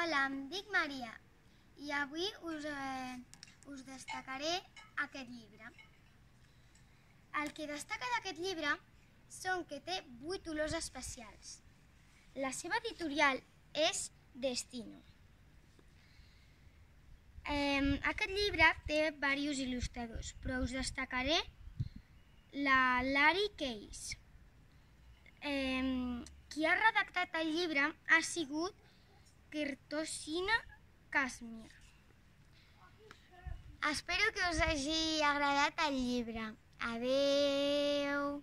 Hola, em dic Maria i avui us destacaré aquest llibre. El que destaca d'aquest llibre són que té 8 olors especials. La seva editorial és Destino. Aquest llibre té diversos il·lustradors, però us destacaré la Lari Case. Qui ha redactat el llibre ha sigut Kirtosina Kashmir. Espero que us hagi agradat el llibre. Adeu!